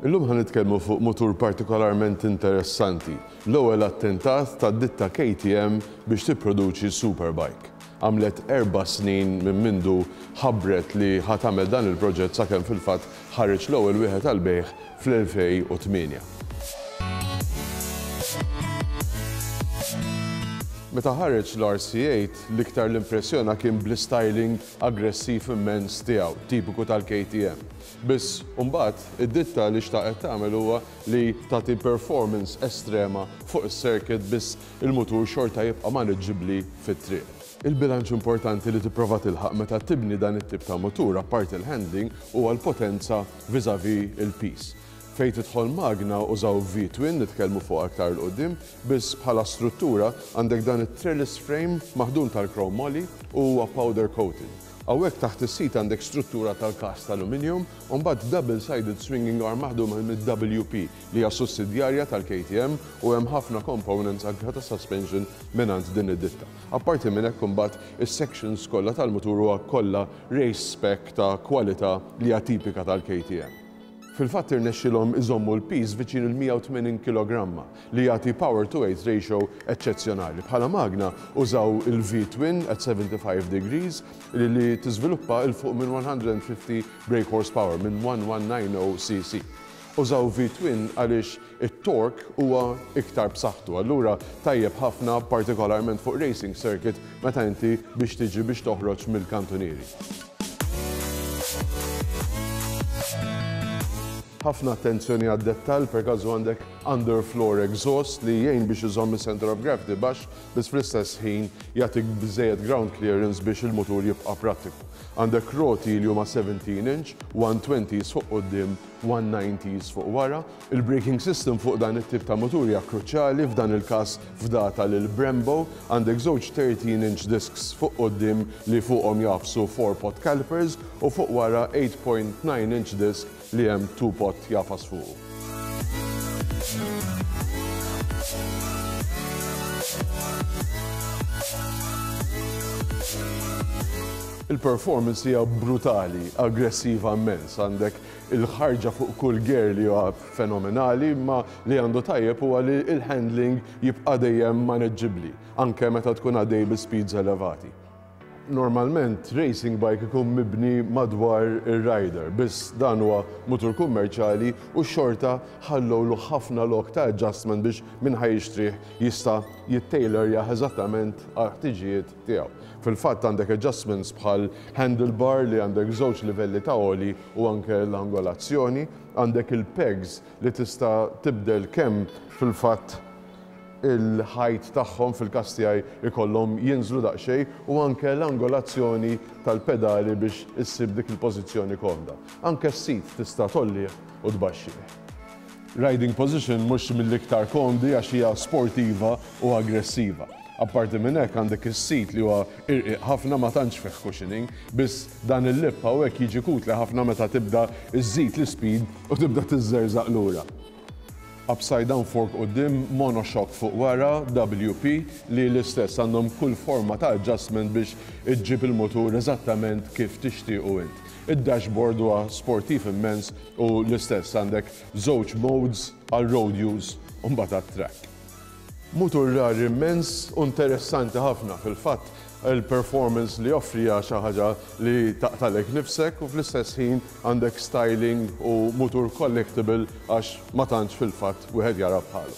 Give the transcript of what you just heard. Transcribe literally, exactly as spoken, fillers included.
Illum ħa nitkellmu fuq mutur partikolarment interessanti, l-ewwel attentat tad-ditta K T M biex tipproduċi superbike. Għamlet erba' snin minn mindu ħabbret li ħa tagħmel dan il-proġett sakemm fil-fatt ħareġ l-ewwel wieħed għall-bejgħ fl-elfejn u tmienja. Meta ħareġ l-R C eight, l-iktar l-impressjona kien bl-styling aggressiv immens tiegħu, tipiku tal-K T M. Biss mbagħad id-ditta li xtaqet tagħmel huwa li tagħti performance estrema fuq is-circuit, biss il-mutur xorta jibqa' maniġġibbli fit-triq. Il-bilanċ importanti li tipprova tilħaq meta tibni dan it-tip ta' mutur, apparti il-handling, huwa l-potenza vis-a-vis il-piż. Fejn tidħol magna, użaw V-twin, nitkellmu fuq aktar 'il quddiem, biss bħala struttura għandek dan it-trellis frame maħdum tal-chrome moly u huwa powder coated. Hawnhekk taħt is-seat għandek struttura tal-cast aluminium u mbagħad double-sided swinging arm maħdum mid-W P, li hija sussidjarja tal-K T M, u hemm ħafna components anke ta' suspension mingħand din id-ditta. Apparti minn hekk, imbagħad is-sections kollha tal-mutur huwa kollha race spec ta' kwalità li hija tipika tal-K T M. Fil-fatt irnexxilhom iżommu l-piż viċin il-mija u tmenin kilogramma, li jagħti power to weight ratio eċċezzjonali. Bħala magna użaw il-V-twin at seventy-five degrees li, li tiżviluppa 'il fuq minn mija u ħamsin brake horsepower minn elf u mija u disgħin C C. Użaw V-twin għaliex it-torque huwa iktar b'saħħtu. Allura tajjeb ħafna, partikolarment fuq racing circuit, meta inti biex tiġi biex toħroġ mill-kantunieri. Ħafna attenzjoni għad-dettal, per każu għandek underfloor exhaust li jgħin biex iżomm il-center of gravity baxx, biss fl-istess ħin jagħtik biżejjed ground clearance biex il-mutur jibqa' prattiku. Għandek roti li huma seventeen inch, one twenties fuq quddiem, one nineties fuq wara. Il-braking system fuq dan it-tip ta' mutur hija kruċjali, f'dan il-każ fdata lil Brembo. Għandek żewġ thirteen inch discs fuq quddiem li fuqhom jagħfsu four pot calipers u fuq wara eight point nine inch disc li hemm two pot jagħfas fuqu. Il-performance hija brutali, aggressiva immens. Għandek il-ħarġa fuq kull gear li huwa fenomenali, ma li għandu tajjeb huwa li il-handling jibqa' dejjem maneġġibbli, anke meta tkun għaddej bi speeds elevati. Normalment racing bike ikun mibni madwar ir-rider, biss dan huwa mutur kummerċjali u xorta ħallowlu ħafna lok ta' adjustment biex min ħa jixtrih jista' jittailorja eżattament għal-ħtiġijiet tiegħu. Fil-fatt għandek adjustments bħal handlebar li għandek żewġ livelli ta' għoli u anke l-angolazzjoni, għandek il-pegs li tista' tibdel kemm fil-fatt il-height tagħhom, fil-każ tiegħi ikollhom jinżlu daqsxejn, u anke l-angolazzjoni tal-pedali biex issib dik il-pożizzjoni komda. Anke s-seat tista' tgħollih u tbaxxih. Riding position mhux mill-iktar komdi għax hija sportiva u aggressiva. Apparti minn hekk, għandek is-seat li huwa irqiq ħafna, ma tantx fih cushioning, biss dan il-lip hawnhekk jiġi utli ħafna meta tibda iżżid l-speed u tibda tiżżerżaq lura. Upside down fork quddiem, monoshock fuq wara, W P, li l-istess għandhom kull forma ta' adjustment biex iġġib il-motur eżattament kif tixtiequ int. Id-dashboard huwa sportiv immens u l-istess għandek żewġ modes għal road use u mbagħad track. Mutur rar immens u interessanti ħafna. Fil-fatt, il-performance li joffri hija xi ħaġa li taqtalek nifsek u fl-istess ħin għandek styling u mutur collectible għax ma tantx fil-fatt wieħed jara bħalu.